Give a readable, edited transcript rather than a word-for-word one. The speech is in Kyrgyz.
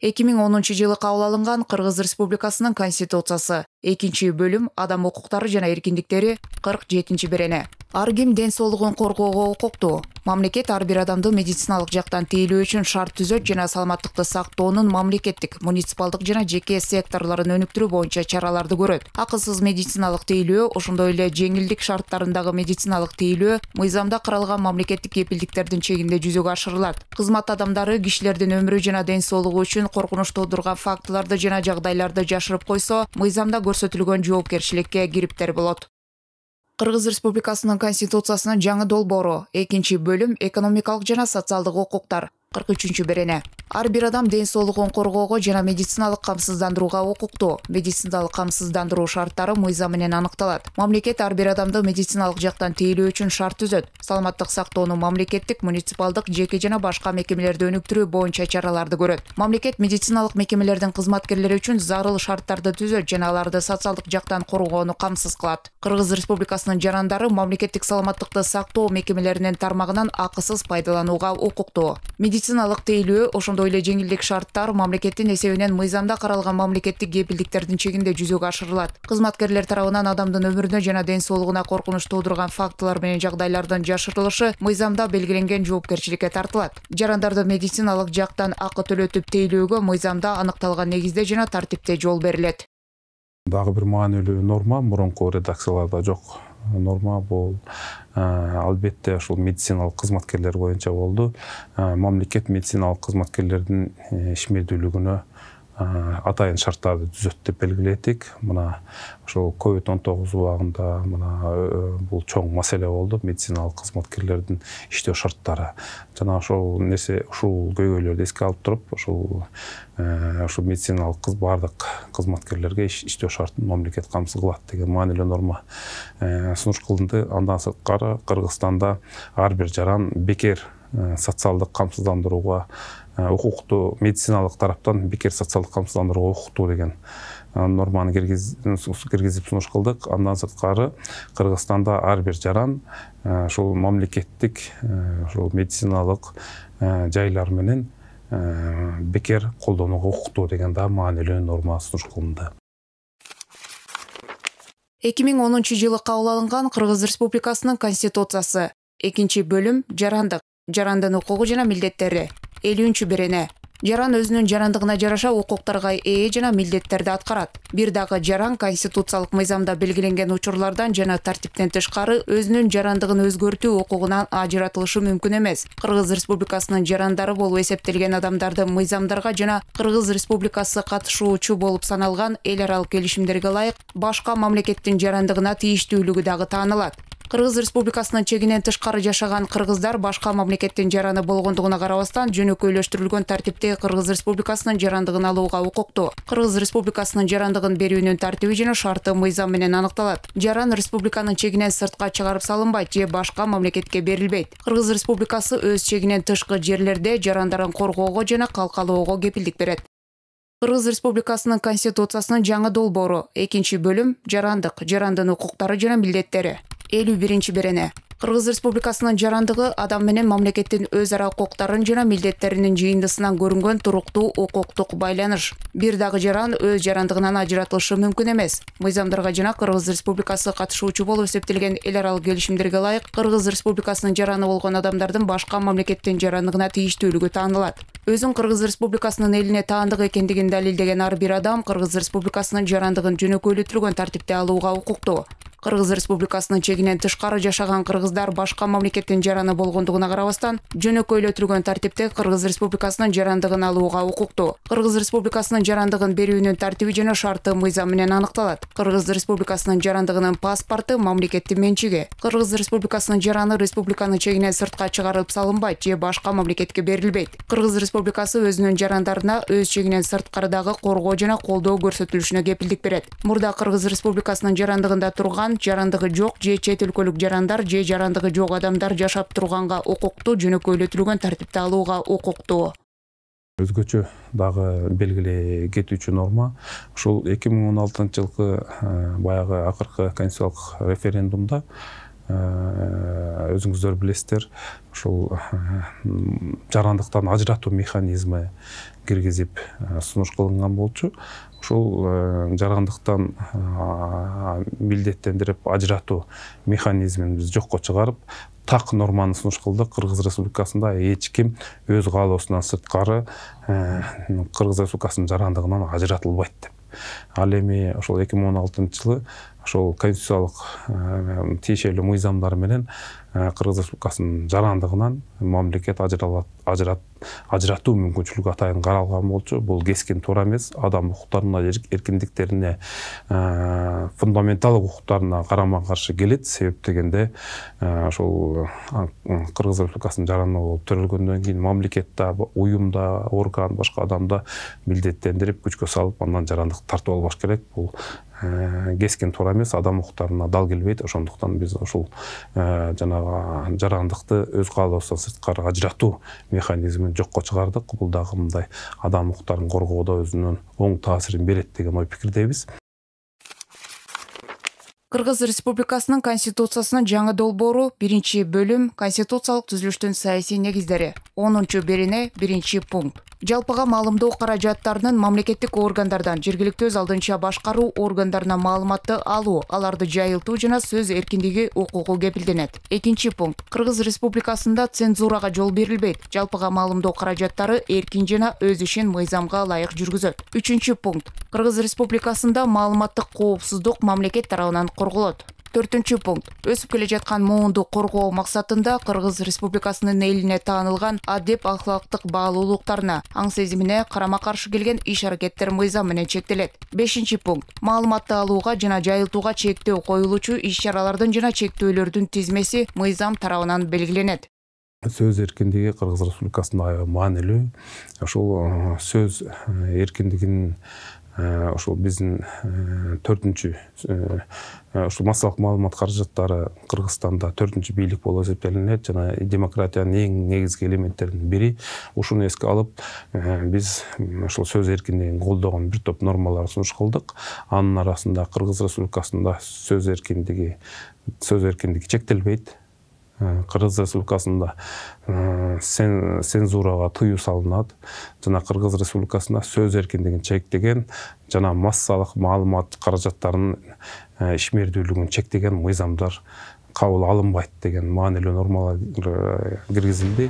2010-жылы кабыл алынган Кыргыз Республикасынын Конституциясы 2-бөлүм адам укуктары жана эркиндиктери 47-берене. Ар ким ден соолугун коргоого укуктуу. Мамлекет ар бир адамды медициналык жактан тейлөө үчүн шарт түзөт жана саламаттыкты сактоонун мамлекеттик, муниципалдык жана жеке секторлорун өнүктүрүү боюнча чараларды көрөт. Акысыз медициналык тейлөө, ошондой эле жеңилдик шарттарындагы медициналык тейлөө мыйзамда каралган мамлекеттик кепилдиктердин чегинде жүзөгө ашырылат. Кызмат адамдары кишилердин өмүрү жана ден соолугу үчүн коркунуч туудурган фактыларды жана жагдайларды жашырып койсо, мыйзамда көрсөтүлгөн жоопкерчиликке кириптер болот. Кыргыз Республикасынын Конституциясынын жаңы долбоору 2-бөлүм экономикалык жана социалдык укуктар 43-берене. Ар бир адам ден соолугун коргоого жана медициналык камсыздандырууга укуктуу. Медициналык камсыздандыруу шарттары мыйзам менен аныкталат. Мамлекет ар бир адамды медициналык жактан тейлөө үчүн шарт түзөт. Саламаттык сактоонун мамлекеттик, муниципалдык, жеке жана башка мекемелерди өнүктүрүү боюнча чараларды көрөт. Мамлекет медициналык мекемелердин кызматкерлери үчүн зарыл шарттарды түзөт жана аларды социалдык жактан коргоону камсыз кылат. Кыргыз Республикасынын жарандары мамлекеттик саламаттыкты сактоо мекемелеринин тармагынан акысыз пайдаланууга укуктуу. Медициналык тейлөө, ошондой эле жеңилдик шарттар мамлекеттин эсебинен мыйзамда каралган мамлекеттик кепилдиктердин чегинде жүзөгө ашырылат. Кызматкерлер тарабынан адамдын өмүрүнө жана ден соолугуна коркунуч туудурган фактылар менен жагдайлардын жашырылышы мыйзамда белгиленген жоопкерчиликке тартылат. Жарандарды медициналык жактан акы төлөтүп тейлөөгө мыйзамда аныкталган негизде жана тартипте жол берилет. Дагы бир маанилүү норма мурунку редакцияларда жок. Норма бул албетте ушул медициналык кызматкерлер боюнча болду. Мамлекет медициналык кызматкерлердин ишмердүүлүгүнө атайын шарттарды түзөт деп белгиледик. Мына ошол COVID-19 убагында бул чоң маселе болду. Медициналык кызматкерлердин иштөө шарттары. Жана ошол көйгөйлөрдү эске алып туруп, ушул медициналык бардык кызматкерлерге иштөө шартын мамлекет камсыз кылат деген маанилүү норма сунуш кылынды. Андан сырткары Кыргызстанда ар бир жаран бекер социалдык камсыздандырууга укуктуу, медициналык тараптан бекер социалдык камсыздандырууга укуктуу деген норманы киргизип сунуш кылдык. Андан сырткары Кыргызстанда ар бир жаран ушул мамлекеттик медициналык жайлар менен бекер колдонууга укуктуу деген да маанилүү норма сунуш кылынды. 2010-жылы кабыл алынган Кыргыз Республикасынын Конституциясы 2-бөлүм жарандын укугу жана милдеттери 50-берене. Жаран өзүнүн жарандыгына жараша укуктарга ээ жана милдеттерди аткарат. Бир дагы жаран конституциялык мыйзамда белгиленген учурлардан жана тартиптен тышкары өзүнүн жарандыгын өзгөртүү укугунан ажыратылышы мүмкүн эмес. Кыргыз Республикасынын жарандары болуп эсептелген адамдарды мыйзамдарга жана Кыргыз Республикасы катышуучу болуп саналган эл аралык келишимдерге ылайык башка мамлекеттин жарандыгына тийиштүүлүгү дагы таанылат. Кыргыз Республикасынын чегинен тышкары жашаган кыргыздар башка мамлекеттин жараны болгондугуна карабастан жөнөкөйлөштүрүлгөн тартипте Кыргыз Республикасынын жарандыгын алууга укуктуу. Кыргыз Республикасынын жарандыгын берүүнүн тартиби жана шарты мыйзам менен аныкталат. Жаран республиканын чегинен сыртка чыгарып салынбайт же башка мамлекетке берилбейт. Кыргыз Республикасы өз чегинен тышкы жерлерде жарандарын коргоого жана калкалоого кепилдик берет. Кыргыз Республикасынын Конституциясынын жаңы долбоору 2-бөлүм жарандын укуктары жана милдеттери 51-берене. Кыргыз Республикасынын жарандыгы адам менен мамлекеттин өз ара укуктарын жана милдеттеринин жыйындысынан көрүнгөн туруктуу укуктук байланыш. Бир дагы жаран өз жарандыгынан ажыратылышы мүмкүн эмес. Мыйзамдарга жана Кыргыз Республикасы катышуучу болуп эсептелген эл аралык келишимдерге ылайык Кыргыз Республикасынын жараны болгон адамдардын башка мамлекеттин жарандыгына тийиштүүлүгү таанылат. Өзүн Кыргыз Республикасынын элине таандык экендигин далилдеген ар бир адам Кыргыз Республикасынын жарандыгын жөнөкөйлөтүлгөн тартипте алууга укуктуу. Кыргыз Республикасынын чегинен тышкары жашаган кыргыздар башка мамлекеттин жараны болгондугуна карабастан жөнөкөйлөтүлгөн тартипте Кыргыз Республикасынын жарандыгын алууга укуктуу. Кыргыз Республикасынын жарандыгын берүүнүн тартиби жана шарты мыйзам менен аныкталат. Кыргыз Республикасынын жарандыгынын паспорту мамлекеттин менчиги. Кыргыз Республикасынын жараны республиканын чегинен сыртка чыгарылып салынбайт же башка мамлекетке берилбейт. Кыргыз Республикасы өзүнүн жарандарына өз чегинен сырткарыдагы коргоо жана колдоо көрсөтүлүшүнө кепилдик берет. Мурда Кыргыз Республикасынын жарандыгында турган жарандыгы жок же чет өлкөлүк жарандар же жарандыгы жок адамдар жашап турганга укуктуу, жөнөкөйлөтүлгөн тартипте алууга укуктуу. Өзгөчө дагы белгилей кетүүчү норма ушул 2016-жылкы баягы акыркы конституциялык референдумда өзүңүздөр билесиздер, ушул жарандыктан ажыратуу механизми киргизип сунуш кылынган болчу. Ушул жарандыктан милдеттендирип ажыратуу механизмин биз жокко чыгарып, так норманы сунуш кылдык. Кыргыз Республикасында эч ким өз каалоосунан сырткары Кыргыз Республикасынын жарандыгынан ажыратылбайт деп. Ал эми ошол 2016-жылы ошол конституциялык тиешелүү мыйзамдар менен Кыргыз Республикасынын жарандыгынан мамлекет ажыратуу мүмкүнчүлүгү атайын каралган болчу. Бул кескин туура эмес. Адам укуктарына, эркиндиктерине, фундаменталдык укуктарына карама-каршы келет. Себеп дегенде ошол Кыргыз Республикасынын жарандыгы болуп төрөлгөндөн кийин мамлекетте, уюмда, орган, башка адамда милдеттендирип, күчкө салып, андан жарандык тартып албаш керек. Бул кескин туура эмес, адам укуктарына дал келбейт. Ошондуктан биз ушул жанагы жарандыкты өз каалоосунан сырткары ажыратуу механизмин жокко чыгардык. Бул дагы мындай адам укуктарын коргоодо өзүнүн оң таасирин берет деген ой пикирдебиз. Кыргыз Республикасынын Конституциясынын жаңы долбоору 1-бөлүм Конституциялык түзүлүштүн саясий негиздери 10-берене 1-пункт. Жалпыга маалымдоо каражаттарынын мамлекеттик органдардан жергиликтүү өз алдынча башкаруу органдарына маалыматты алуу, аларды жайылтуу жана сөз эркиндиги укугу кепилденет. 2-пункт. Кыргыз Республикасында цензурага жол берилбейт. Жалпыга маалымдоо каражаттары эркин жана өз ишин мыйзамга ылайык жүргүзөт. 3-пункт. Кыргыз Республикасында маалыматтык коопсуздук мамлекет тарабынан корголот. 4-пункт. Өсүп келе жаткан муунду коргоо максатында Кыргыз Республикасынын элине таанылган адеп ахлактык баалуулуктарына, аң сезимине карама-каршы келген иш-аракеттер мыйзам менен чектелет. 5-пункт. Маалыматты алууга жана жайылтууга чектөө коюлуучу иш-чаралардын жана чектөөлөрдүн тизмеси мыйзам тарабынан белгиленет. Сөз эркиндиги Кыргыз Республикасында аябай маанилүү. Ошол сөз эркиндигин ошол биздин 4-чү ушул массалык маалымат каражаттары Кыргызстанда 4-чү бийлик болуп эсептелинет жана демократиянын эң негизги элементтеринин бири. Ушуну эске алып, биз ошол сөз эркиндигин колдогон бир топ нормаларды сунуш кылдык. Анын арасында Кыргыз Республикасында сөз эркиндиги чектелбейт. Кыргыз Республикасында цензурага тыюу салынат жана Кыргыз Республикасында сөз эркиндигин чектеген жана массалык маалымат каражаттарынын ишмердүүлүгүн чектеген мыйзамдар кабыл алынбайт деген маанилүү нормалар киргизилди.